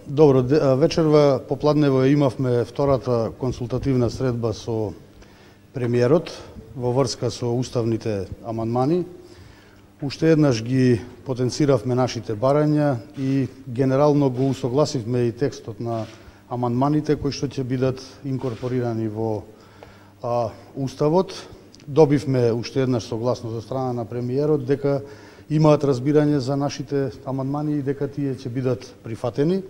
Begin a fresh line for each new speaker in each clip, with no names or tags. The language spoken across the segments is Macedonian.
Добро, вечерва попладнево имавме втората консултативна средба со премиерот во врска со уставните амандмани. Уште еднаш ги потенциравме нашите барања и генерално го усогласивме и текстот на амандманите кои што ќе бидат инкорпорирани во уставот. Добивме уште еднаш согласност од страна на премиерот дека имаат разбирање за нашите амандмани и дека тие ќе бидат прифатени.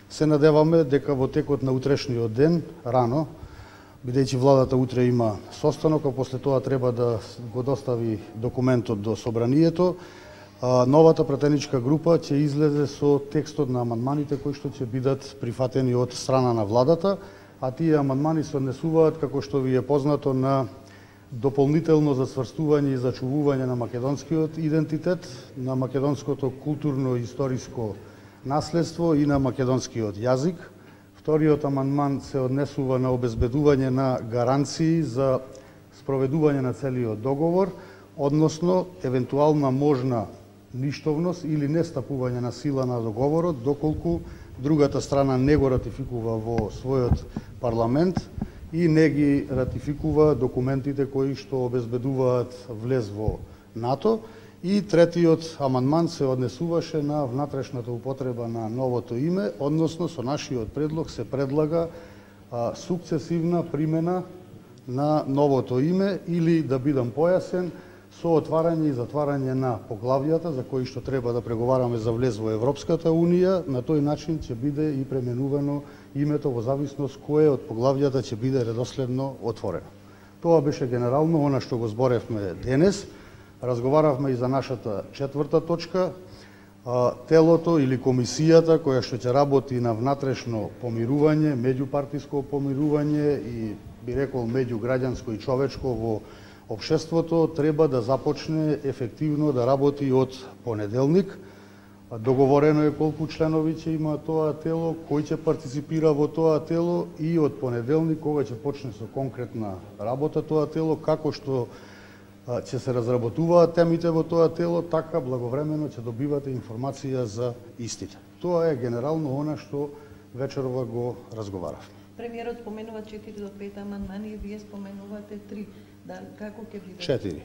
Се надеваме дека во текот на утрешниот ден, рано, бидејќи владата утре има состанок, а после тоа треба да го достави документот до собранието, новата пратеничка група ќе излезе со текстот на амандманите кои што ќе бидат прифатени од страна на владата, а тие амандмани се однесуваат, како што ви е познато, на дополнително засврстување и зачувување на македонскиот идентитет, на македонското културно-историско наследство и на македонскиот јазик. Вториот амандман се однесува на обезбедување на гаранции за спроведување на целиот договор, односно евентуална можна ништовност или нестапување на сила на договорот, доколку другата страна не го ратификува во својот парламент и не ги ратификува документите кои што обезбедуваат влез во НАТО. И третиот амандман се однесуваше на внатрешната употреба на новото име, односно со нашиот предлог се предлага сукцесивна примена на новото име или, да бидам појасен, со отварање и затварање на поглавјата за кои што треба да преговараме за влез во Европската Унија. На тој начин ќе биде и пременувано името во зависност кое од поглавјата ќе биде редоследно отворено. Тоа беше генерално она што го зборевме денес. Разговаравме и за нашата четврта точка, телото или комисијата која што ќе работи на внатрешно помирување, меѓупартиско помирување и, би рекол, меѓуграѓанско и човечко во општеството, треба да започне ефективно да работи од понеделник. Договорено е колку членови ќе има тоа тело, кој ќе партиципира во тоа тело и од понеделник, кога ќе почне со конкретна работа тоа тело, како што ќе се разработуваат темите во тоа тело, така благовремено ќе добивате информација за истите. Тоа е генерално она што вечерова го разговаравме.
Премиерот споменува 4 до 5 амандмани и вие споменувате 3. Да, како ќе биде?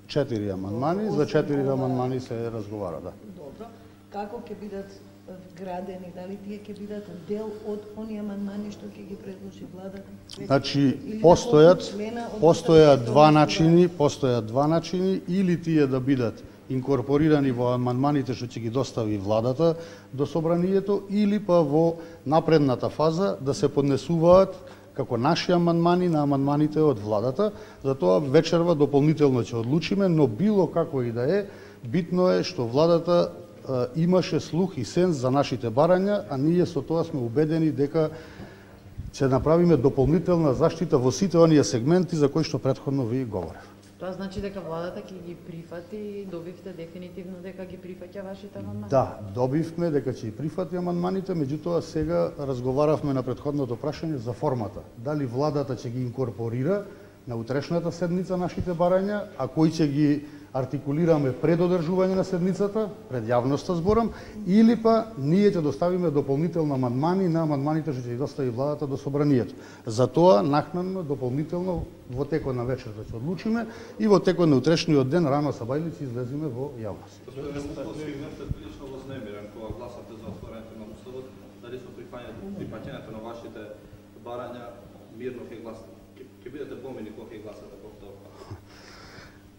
4 амандмани, за 4 амандмани се разговара, да. Добро. Како ќе бидат вградени, дали тие ќе бидат дел од оние амандмани што ќе ги предложи владата?
Значи, постојат два начини, или тие да бидат инкорпорирани во амандманите што ќе ги достави владата до собранието, или па во напредната фаза да се поднесуваат како наши амандмани на амандманите од владата. Затоа вечерва дополнително ќе одлучиме, но било како и да е, битно е што владата имаше слух и сенс за нашите барања, а ние со тоа сме убедени дека ќе направиме дополнителна заштита во сите оние сегменти за кои што претходно ви говорев.
Тоа значи дека владата ќе ги прифати, добивте дефинитивно дека ги прифаќа вашите амандмани?
Да, добивме дека ќе ги прифати амандманите, меѓутоа сега разговаравме на претходното прашање за формата. Дали владата ќе ги инкорпорира на утрешната седница нашите барања, а кои ќе ги артикулираме пред одржување на седницата, пред јавноста зборам, или па ние ќе доставиме дополнителни амандмани на амандманите што ќе ги достави владата до собранието. Затоа накнадно дополнително во текот на вечерта ќе одлучиме и во текот на утрешниот ден рано сабајле ќе излеземе во јавност.
Сегментот прилично вознемирен кога гласате за отворањето на уставот, дали со прифаќањето на вашите барања мирно ќе гласате? Ќе бидете помини кога ќе гласате повторно?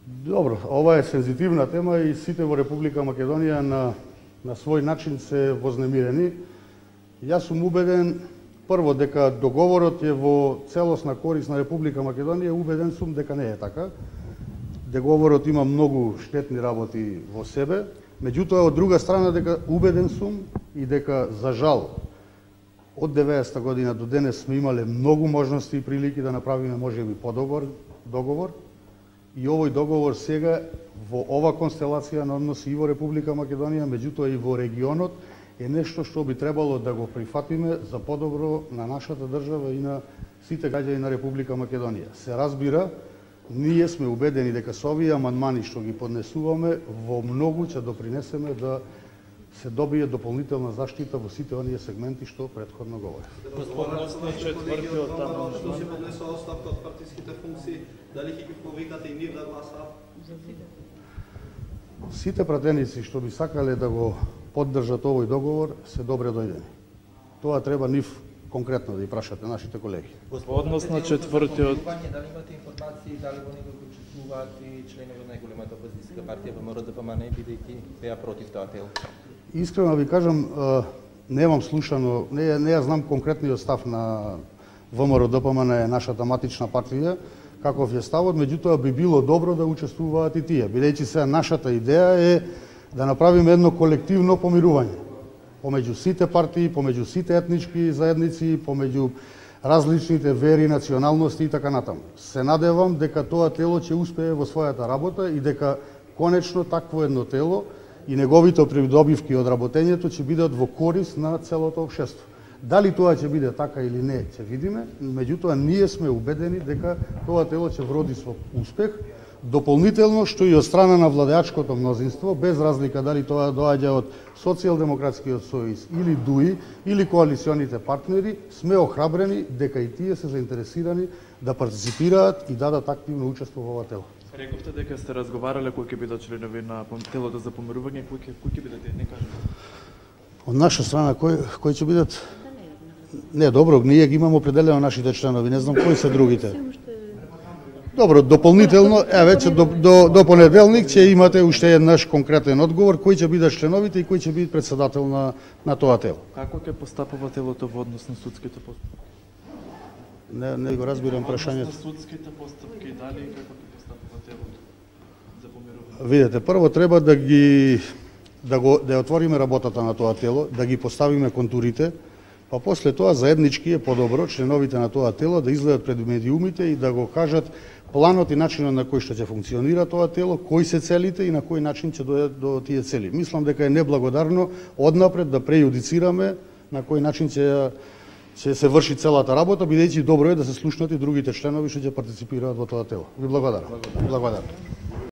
Добро, ова е сензитивна тема и сите во Република Македонија на свој начин се вознемирени. Јас сум убеден, прво, дека договорот е во целосна корист на Република Македонија, убеден сум дека не е така. Договорот има многу штетни работи во себе, меѓутоа од друга страна дека убеден сум и дека за жал од 90-та година до денес сме имале многу можности и прилики да направиме можеби подобар договор. И овој договор сега во ова констелација на односи и во Република Македонија, меѓутоа и во регионот, е нешто што би требало да го прифатиме за подобро на нашата држава и на сите граѓани на Република Македонија. Се разбира, ние сме убедени дека со овие амандмани што ги поднесуваме, во многу ќе допринесеме да се добие дополнителна заштита во сите оние сегменти што претходно говори.
Односно четвртиот амандман.
Што се поднесува оставка од партиските функции, дали ќе ги повикате и нив да гласаат?
Сите пратеници што би сакале да го поддржат овој договор се добре дојдени. Тоа треба нив конкретно да ја прашате нашите колеги.
Односно четвртиот.
Дали имате информации дали во него учествуваат и членови на најголемата опозицијска партија ВМРО-ДПМН бидејќи беа против тоа тело?
Искрено ви кажам, немам слушано, не ја знам конкретниот став на ВМРО-ДПМН, нашата матична партија, каков е ставот, меѓутоа би било добро да учествуваат и тие, бидејќи сега нашата идеја е да направиме едно колективно помирување помеѓу сите партии, помеѓу сите етнички заедници, помеѓу различните вери, националности и така натаму. Се надевам дека тоа тело ќе успее во својата работа и дека конечно такво едно тело и неговите придобивки од работењето ќе бидат во корист на целото општество. Дали тоа ќе биде така или не, ќе видиме, меѓутоа ние сме убедени дека тоа тело ќе вроди со успех, дополнително што и од страна на владеачкото мнозинство, без разлика дали тоа доаѓа од Социјалдемократскиот сојуз или ДУИ или коалиционите партнери, сме охрабрени дека и тие се заинтересирани да партиципираат и дадат активно учество во ова тело.
Рековте дека сте разговарале кои ќе бидат членови на телото за помирување, кои ќе бидат, не кажете.
Од наша страна кои ќе бидат? Не, добро, ние ги имаме определено нашите членови, не знам кои се другите. Добро, дополнително, веќе до понеделник ќе имате уште еднаш конкретен одговор кои ќе бидат членовите и кој ќе биде претседател на тоа тело.
Како ќе постапува телото во однос на судските постапки?
Не го разбирам прашањето.
Во однос на судските постапки, дали и како ќе постапува телото за помирување?
Видете, прво треба да отвориме работата на тоа тело, да ги поставиме контурите, па после тоа заеднички е подобро членовите на тоа тело да излезат пред медиумите и да го кажат планот и начинот на кој што ќе функционира тоа тело, кои се целите и на кој начин ќе дојдат до тие цели. Мислам дека е неблагодарно однапред да прејудицираме на кој начин ќе се врши целата работа, бидејќи добро е да се слушнат и другите членови што ќе партиципираат во тоа тело. Ви благодарам.